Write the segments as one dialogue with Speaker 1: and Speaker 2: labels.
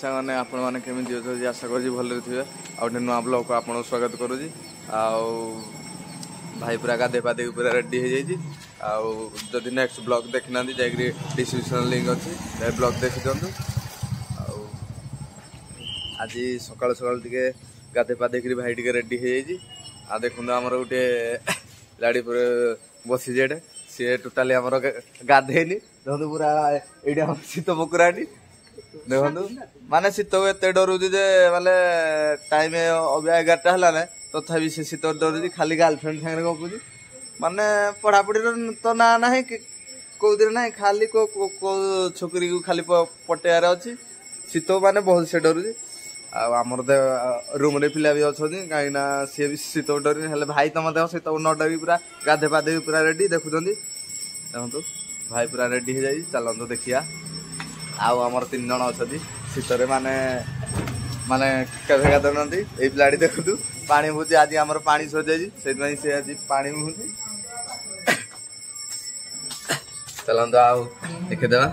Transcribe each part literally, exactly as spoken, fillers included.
Speaker 1: ସାଙ୍ଗମାନେ, ଆପଣମାନେ କେମିତି ଅଛନ୍ତି? ଆଶା କରୁଛି ଭଲରେ ଥିବେ। ଆଉ ଗୋଟେ ନୂଆ ବ୍ଲଗ୍କୁ ଆପଣଙ୍କୁ ସ୍ୱାଗତ କରୁଛି। ଆଉ ଭାଇ ପୁରା ଗାଧେଇ ପାଧେଇକି ପୁରା ରେଡ଼ି ହେଇଯାଇଛି। ଆଉ ଯଦି ନେକ୍ସଟ ବ୍ଲଗ୍ ଦେଖିନାହାନ୍ତି, ଯାଇକିରି ଡିସ୍କ୍ରିପସନ୍ ଲିଙ୍କ୍ ଅଛି, ଯାଇ ବ୍ଲଗ୍ ଦେଖିଦିଅନ୍ତୁ। ଆଉ ଆଜି ସକାଳୁ ସକାଳୁ ଟିକେ ଗାଧେଇ ପାଧେଇକିରି ଭାଇ ଟିକେ ରେଡ଼ି ହେଇଯାଇଛି। ଆଉ ଦେଖନ୍ତୁ, ଆମର ଗୋଟେ ଗାଡ଼ି ପରେ ବସିଛି ଏଇଟା, ସିଏ ଟୋଟାଲି ଆମର ଗାଧେଇନି। ଦେଖନ୍ତୁ, ପୁରା ଏଇଠି ଆମର ଶୀତ ପକୁରାଟି ଦେଖନ୍ତୁ। ମାନେ ଶୀତକୁ ଏତେ ଡରୁଛି ଯେ ମାନେ ଟାଇମ ଅବିକା ଏଗାରଟା ହେଲା ନା, ତଥାପି ସେ ଶୀତ ଡରୁଛି। ଖାଲି ଗାର୍ଲଫ୍ରେଣ୍ଡ ସାଙ୍ଗରେ ଗପୁଛି। ମାନେ ପଢାପଢିର ତ ନାଁ ନାହିଁ କି କୋଉଥିରେ ନାହିଁ, ଖାଲି କୋଉ କୋଉ ଛୋକରୀକୁ ଖାଲି ପଟେଇବାର ଅଛି। ଶୀତ ମାନେ ବହୁତ ସେ ଡରୁଛି। ଆଉ ଆମର ତ ରୁମରେ ପିଲା ବି ଅଛନ୍ତି, କାହିଁକି ନା ସିଏ ବି ଶୀତ ଡରୁନି। ହେଲେ ଭାଇ ତମ ଦେହ ଶୀତ ନ ଡରି ପୁରା ଗାଧେଇ ପାଧେଇ ପୁରା ରେଡି। ଦେଖୁଛନ୍ତି, ଦେଖନ୍ତୁ, ଭାଇ ପୁରା ରେଡି ହେଇଯାଇଛି। ଚାଲନ୍ତୁ ଦେଖିବା। ଆଉ ଆମର ତିନି ଜଣ ଅଛନ୍ତି, ଶୀତରେ ମାନେ ମାନେ କେବେ ଗାଧଉନାହାନ୍ତି। ଏଇ ପିଲାଟି ଦେଖନ୍ତୁ, ପାଣି ବୋହୁଛି। ଆଜି ଆମର ପାଣି ସରିଯାଇଛି, ସେଇଥିପାଇଁ ସେ ଆଜି ପାଣି ବୋହୁଛି। ଚାଲନ୍ତୁ ଆଉ ଦେଖିଦେବା।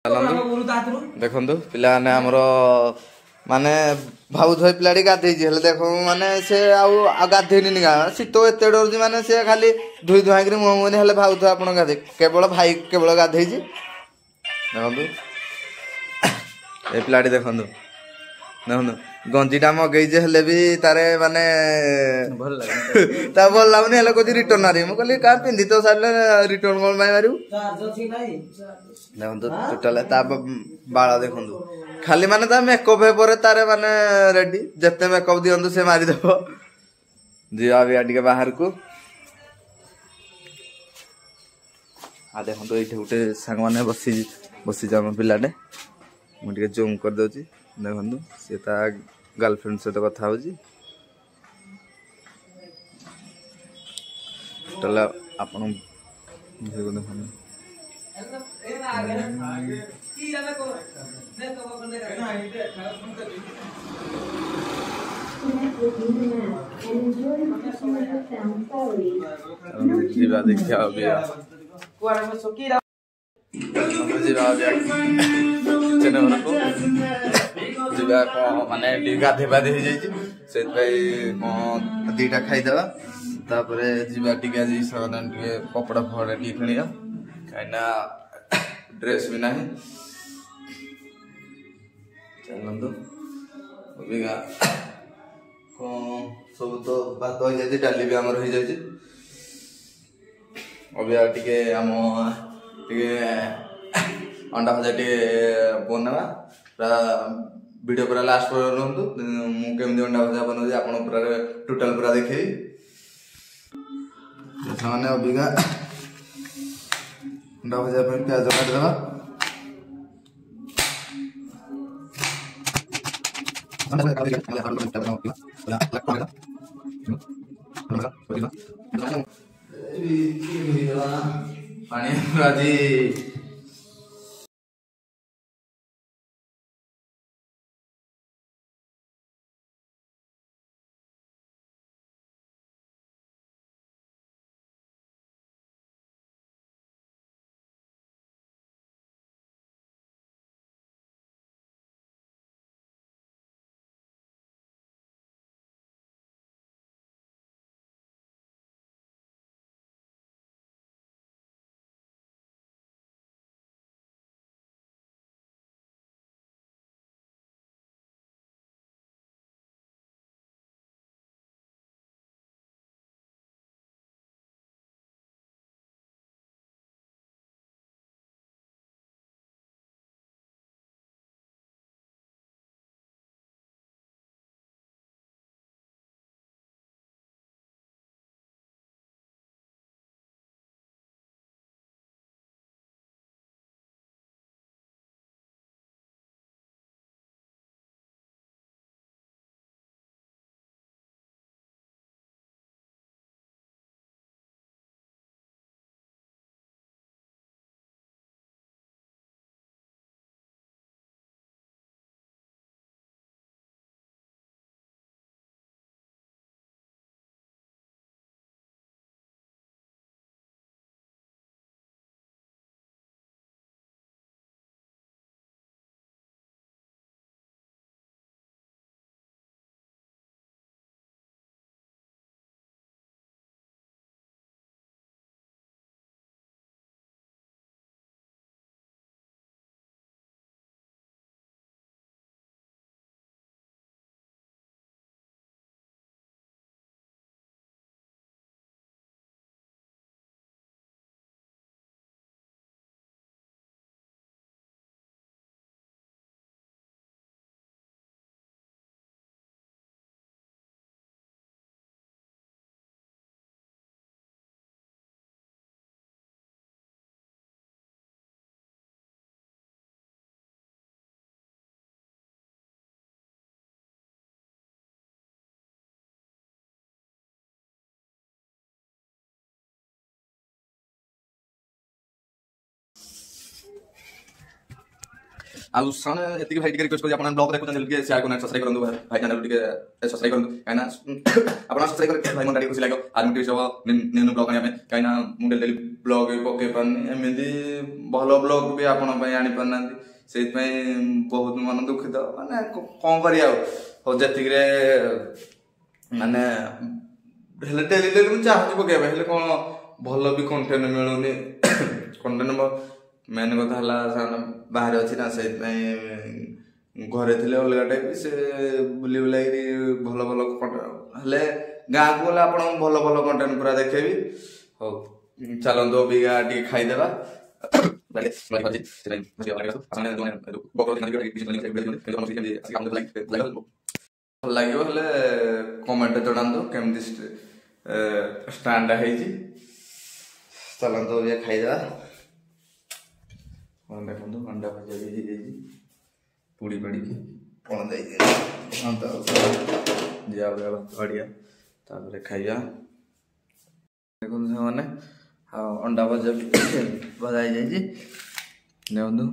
Speaker 1: ଚାଲନ୍ତୁ, ଦେଖନ୍ତୁ ପିଲାମାନେ, ଆମର ମାନେ ଭାବୁଥିବେ ପିଲାଟି ଗାଧେଇଛି, ହେଲେ ଦେଖ, ମାନେ ସେ ଆଉ ଆଉ ଗାଧେଇନି। ଶୀତ ଏତେ ଡରୁଛି, ମାନେ ସେ ଖାଲି ଧୋଇ ଧୁଆଇକିରି ମୁହଁ ମୁହଁ। ହେଲେ ଭାବୁଥିବେ ଆପଣ ଗାଧେଇ, କେବଳ ଭାଇ କେବଳ ଗାଧେଇଛି। ଦେଖନ୍ତୁ, ଏ ପିଲାଟି ଦେଖନ୍ତୁ, ଦେଖନ୍ତୁ, ଗଞ୍ଜିଟା ମଗେଇଛି, ହେଲେ ବି ତାରେ ମାନେ ତା ଭଲ ଲାଗୁନି। ହେଲେ କହୁଛି ରିଟର୍ନ ମାରିବି। ମୁଁ କହିଲି, କାହା ପିନ୍ଧି ତ ସାରିଲେ ରିଟର୍ନ କଣ ପାଇଁ ମାରିବୁ? ଦେଖନ୍ତୁ, ଟୋଟାଲ ତା ବାଳ ଦେଖନ୍ତୁ ଖାଲି। ମାନେ ତା ମେକଅପ୍ ପରେ ତାରେ ମାନେ ରେଡି, ଯେତେ ମେକଅପ୍ ଦିଅନ୍ତୁ ସେ ମାରିଦବ। ଯିବା ବି ଟିକେ ବାହାରକୁ। ଆଉ ଦେଖନ୍ତୁ, ଏଇଠି ଗୋଟେ ସାଙ୍ଗମାନେ ବସି ବସିଛି ଆମ ପିଲାଟେ। ମୁଁ ଟିକେ ଜୁମ୍ କରିଦେଉଛି। ଦେଖନ୍ତୁ, ସେ ତା ଗାର୍ଲଫ୍ରେଣ୍ଡ ସହିତ କଥା ହଉଛି। ତାହେଲେ ଆପଣ ଦେଖନ୍ତୁ। ଯିବା ଦେଖିବା ଯିବା କିଚେନ ଘରକୁ ଯିବା। କଣ ମାନେ ଟିକେ ଗାଧେଇ ପାଧେଇ ହେଇଯାଇଛି, ସେଥିପାଇଁ କଣ ଦିଟା ଖାଇଦେବା, ତାପରେ ଯିବା ଟିକେ। ଆଜି ସେମାନେ ଟିକେ କପଡ଼ା ଫପଡ଼ା ଟିକେ କିଣିବା, କାହିଁକିନା ଡ୍ରେସ୍ ବି ନାହିଁ। ଚାଲନ୍ତୁ। ଅବିକା କଣ ସବୁ ତ ଭାତ ହେଇଯାଇଛି, ଡାଲି ବି ଆମର ହେଇଯାଇଛି। ଅବିକା ଟିକେ ଆମ ଟିକେ ଅଣ୍ଡା ଭଜା ଟିକେ ବନେଇବା। ପୁରା ଭିଡ଼ିଓ ପୁରା ଲାଷ୍ଟ ପର୍ଯ୍ୟନ୍ତ ରୁହନ୍ତୁ। ମୁଁ କେମିତି ଅଣ୍ଡା ଭଜା ବନଉଛି ଆପଣ ପୁରା ଟୋଟାଲ ପୁରା ଦେଖେଇବି। ସେମାନେ ଅବିକା ଅଣ୍ଡା ଭଜା ପାଇଁ ପିଆଜ କାଟିଦେବା। ପାଣି ଆଜି ଆଉ ସେମାନେ ଏତିକି ଭାଇ ଟିକେ ରିକ୍ୱେଷ୍ଟ କରୁଛି, ଆପଣ ବ୍ଲଗ ଦେଖୁଛନ୍ତି, ଟିକେ ସେୟାର କରନ୍ତୁ, ସବସ୍କ୍ରାଇବ୍ କରନ୍ତୁ। ଭାଇ ଚ୍ୟାନେଲ ଟିକେ ସବସ୍କ୍ରାଇବ୍ କରନ୍ତୁ, କାହିଁକିନା ଆପଣ ସବସ୍କ୍ରାଇବ୍ କଲେ ଭାଇ ମନଟା ଟିକେ ଖୁସି ଲାଗିବ, ଆଉ ମୋଟିଭେଟ୍ ହବ ନ୍ୟୁ ନ୍ୟୁ ବ୍ଲଗ ଆଣିବା ପାଇଁ। କାହିଁକିନା ମୁଁ ଡେଲି ଡେଲି ବ୍ଲଗ ବି ପକେଇ ପାରୁନି, ଏମିତି ଭଲ ବ୍ଲଗ ବି ଆପଣଙ୍କ ପାଇଁ ଆଣିପାରୁନାହାନ୍ତି, ସେଇଥିପାଇଁ ବହୁତ ମନ ଦୁଃଖିତ। ମାନେ କଣ କରିବା ଆଉ, ହଉ ଯେତିକିରେ ମାନେ ହେଲେ ଡେଲି ଡେଲି ମୁଁ ଚାହୁଁଛି ପକେଇବା ପାଇଁ, ହେଲେ କଣ ଭଲ ବି କଣ୍ଟେଣ୍ଟ ମିଳୁନି। କଣ୍ଟେଣ୍ଟ ମେନ୍ କଥା ହେଲା ସେମାନେ ବାହାରେ ଅଛି ନା, ସେଇଥିପାଇଁ ଘରେ ଥିଲେ ଅଲଗା ଟାଇପ୍, ସେ ବୁଲି ବୁଲାଇକିରି ଭଲ ଭଲ ହେଲେ ଗାଁକୁ ଗଲେ ଆପଣଙ୍କୁ ଭଲ ଭଲ କଣ୍ଟେଣ୍ଟ ପୁରା ଦେଖେଇବି। ହଉ ଚାଲନ୍ତୁ ଅବିକା ଟିକେ ଖାଇଦେବା। ଭଲ ଲାଗିବ ହେଲେ କମେଣ୍ଟ ଜଣାନ୍ତୁ କେମିତି ଷ୍ଟାଣ୍ଡ ହେଇଛି। ଚାଲନ୍ତୁ ଅବିକା ଖାଇଦେବା। ଦେଖନ୍ତୁ ଅଣ୍ଡା ଭଜା ବି ହେଇଯାଇଛି, ପୋଡ଼ି ପାଡ଼ିକି କଣ ଦେଇଛି ଯିବା ଭାତ ବାଡ଼ିଆ, ତାପରେ ଖାଇବା। ଦେଖନ୍ତୁ ସେମାନେ ଆଉ ଅଣ୍ଡା ଭଜା ବି ଭଜା ହେଇଯାଇଛି। ଦେଖନ୍ତୁ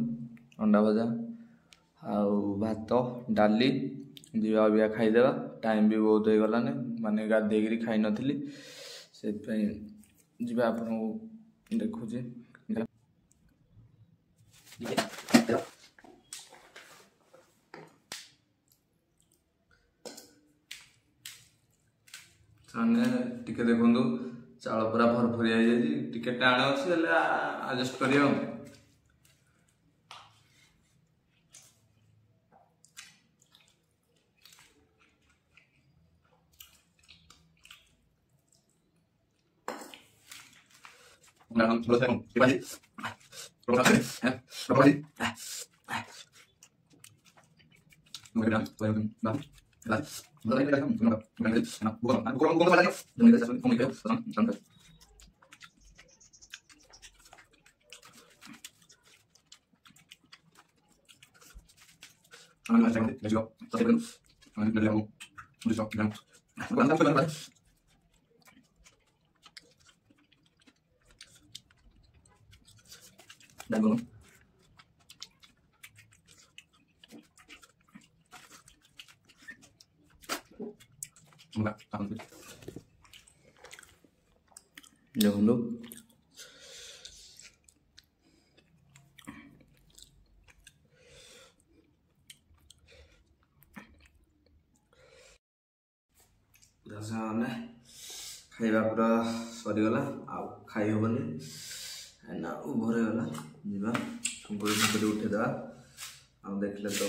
Speaker 1: ଅଣ୍ଡା ଭଜା ଆଉ ଭାତ ଡାଲି। ଯିବା ଅବିକା ଖାଇଦେବା, ଟାଇମ୍ ବି ବହୁତ ହେଇଗଲାନି, ମାନେ ଗାଧେଇକିରି ଖାଇନଥିଲି, ସେଥିପାଇଁ ଯିବା। ଆପଣଙ୍କୁ ଦେଖୁଛି ମାନେ ଟିକେ ଦେଖନ୍ତୁ ଚାଉଳ ପୁରା ଭରଭରିଆ ହେଇଯାଇଛି, ଟିକେ ଟାଣ ଅଛି ହେଲେ ଆଡଜଷ୍ଟ କରିବା। ଦେଖନ୍ତୁ ମାନେ ଖାଇବା ପୁରା ସରିଗଲା, ଆଉ ଖାଇ ହବନି ନା, ଓଭର ହେଇଗଲା। ଯିବା ଶୁଙ୍କୁଡ଼ି ଫୁଙ୍କୁଡ଼ି ଉଠେଇଦେବା। ଆଉ ଦେଖିଲେ ତ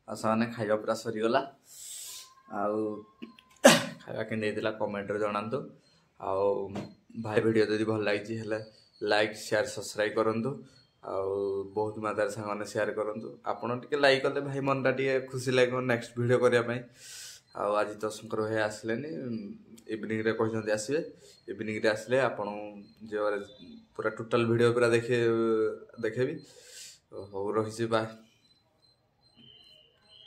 Speaker 1: ଆଉ ସେମାନେ ଖାଇବା ପୁରା ସରିଗଲା। ଆଉ ଖାଇବା କେମିତି ହେଇଥିଲା କମେଣ୍ଟରେ ଜଣାନ୍ତୁ। ଆଉ ଭାଇ ଭିଡ଼ିଓ ଯଦି ଭଲ ଲାଗିଛି ହେଲେ ଲାଇକ୍ ସେୟାର ସବସ୍କ୍ରାଇବ୍ କରନ୍ତୁ, ଆଉ ବହୁତ ମାତ୍ରାରେ ସାଙ୍ଗମାନେ ସେୟାର କରନ୍ତୁ। ଆପଣ ଟିକେ ଲାଇକ୍ କଲେ ଭାଇ ମନଟା ଟିକେ ଖୁସି ଲାଗିବ ନେକ୍ସଟ ଭିଡ଼ିଓ କରିବା ପାଇଁ। ଆଉ ଆଜି ତ ଶଙ୍କର ଭାଇ ଆସିଲେନି, ଇଭିନିଂରେ କହିଛନ୍ତି ଆସିବେ। ଇଭିନିଂରେ ଆସିଲେ ଆପଣ ଯେଉଁ ପୁରା ଟୋଟାଲ ଭିଡ଼ିଓ ପୁରା ଦେଖେ ଦେଖେଇବି। ହଉ ରହିଛି, ବାଏ।